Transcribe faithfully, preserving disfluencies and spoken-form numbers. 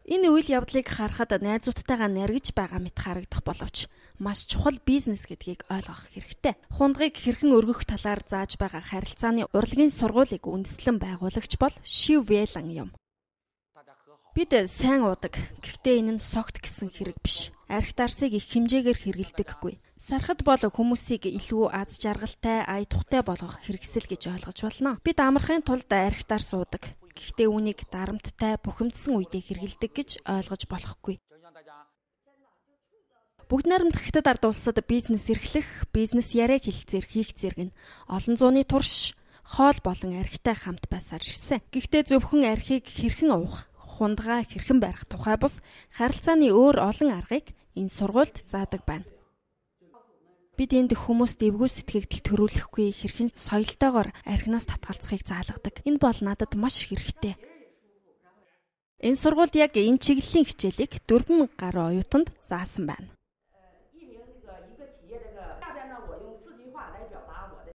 Энэ үйл явдлыг харахад найзуудтайгаа наргиж байгаа мэт харагдах боловч маш чухал бизнес гэдгийг ойлгох хэрэгтэй. Хундгыг хэрхэн өргөх талаар зааж байгаа харилцааны урлагийн сургуулийг үндэслэн байгуулагч бол Шив Вэлан юм. Бид сайн уудаг. Гэхдээ энэ нь согт гэсэн хэрэг биш. Архит арсыг их хэмжээгээр хэрэглэдэггүй. Сархад бол хүмүүсийг илүү аз жаргалтай, ая тухтай болгох хэрэгсэл гэж ойлгож болно. Бид амархын тулд архит арс уудаг. Гэхдээ үүнийг дарамттай, бухимдсан үедээ хэрэглэдэг гэж ойлгож болохгүй. Бүгд найрамдах Хятад ард улсад бизнес эрхлэх, бизнес яриаг хэлэлцээр хийх зэрэг нь олон зууны турш хоол болон архитай хамт байсаар ирсэн. Гэхдээ зөвхөн архийг хэрхэн уух, хундгаа хэрхэн барих тухай бус харилцааны өөр олон аргыг энэ сургуульд заадаг байна. Бид энд хүмүүст эвгүй сэтгэгдэл төрүүлэхгүй хэрхэн соёлтойгоор архинаас татгалзахыг заалгадаг. Энэ бол надад маш хэрэгтэй. Энэ сургуульд яг энэ чиглэлийн хичээлийг дөрвөн гаруй оюутанд заасан байна.